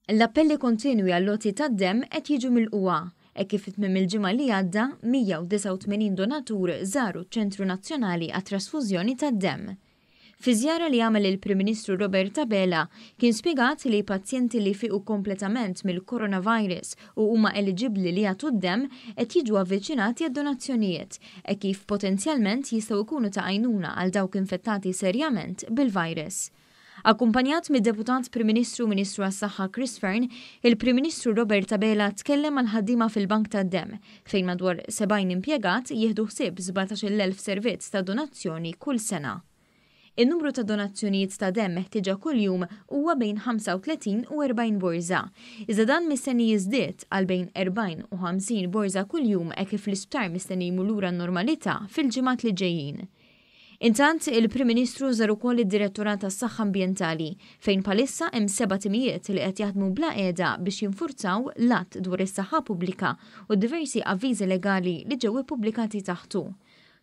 L-appelli kontinwi għall-għoti tad-demm qed jiġu milqugħa, hekk kif fi tmiem il-ġimgħa li għadda, 189 donatur żaru ċ-Ċentru Nazzjonali għat-Trasfużjoni tad-Demm. Fi żjara li għamel il-Prim Ministru Robert Abela, kien spjegat li pazjenti li fiequ kompletament mill-coronavirus u huma eliġibbli li jagħtu d-demm qed jiġu avviċinati għad-donazzjonijiet, hekk kif potenzjalment jistgħu jkunu ta' għajnuna għal dawk infettati serjament bil-virus. Akkumpanjat mid-Deputat Prim Ministru u Ministru għas-Saħħa Chris Fearne, il-Prim Ministru Robert Abela tkellem mal-ħaddiema fil-Bank tad-Demm, fejn madwar 70 impjegat jieħdu ħsieb 17,000 servizz ta' donazzjoni kull sena. In-numru ta' donazzjonijiet ta' demm meħtieġa kuljum huwa bejn 35 u 40 borża, iżda dan mistenni jiżdied għal bejn 40 u 50 borża kuljum hekk kif l-isptar mistenni jmur lura n-normalità fil-ġimgħat li ġejjin. Intant, il-Prim Ministru żar ukoll id-Direttorat għas-Saħħa Ambjentali, fejn bħalissa hemm seba' timijiet li qed jaħdmu bla qiegħda biex jinfurzaw l-Att dwar is-Saħħa Pubblika u d-diversi avviżi legali li ġew ippubblikati taħtu.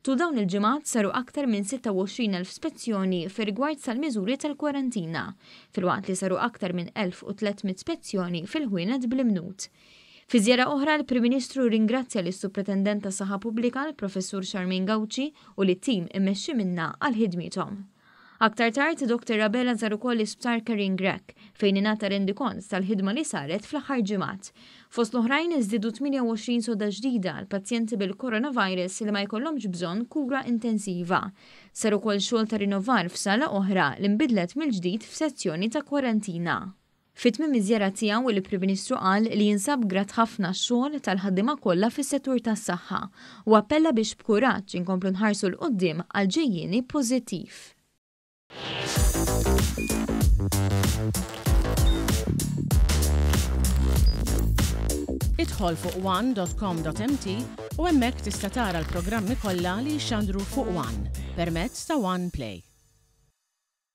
Tul dawn il-ġimgħat saru aktar minn 26,000 spezzjoni fir-rigward tal-miżuri tal-kwarantina, filwaqt li saru aktar minn 1,300 spezzjoni fil-ħwienet bl-imnut. Fi żjara oħra l-Prim Ministru rringrazzja lis-Supretendent tas-Saħħa Pubblika l-Professur Charmaine Gauci u lit-tim immexxi minnha għal ħidmiethom. Aktar tard, Dr Abela żar ukoll l-Isptar Karin Grech, fejn ingħata rendikont tal-ħidma li saret fl-aħħar ġimgħat. Fost l-oħrajn, żdiedu 28 sodda ġdida għal pazjenti bil-coronavirus li ma jkollhomx bżonn kura intensiva. Sar ukoll xogħol ta' rinnovar f'sala oħra li nbidlet mill-ġdid f'sezzjoni ta' kwarantina. Fi tmiem iż-żjara tiegħu, il-Prim Ministru qal li jinsab grat ħafna għax-xogħol tal-ħaddiema kollha fis-settur tas-saħħa u appella biex b'kuraġġ inkomplu nħarsu 'l quddiem għal ġejjieni pożittiv. Idħol fuq one.com.mt u hemmhekk tista' tara l-programmi kollha li jixxandru fuq One permezz ta' One Play.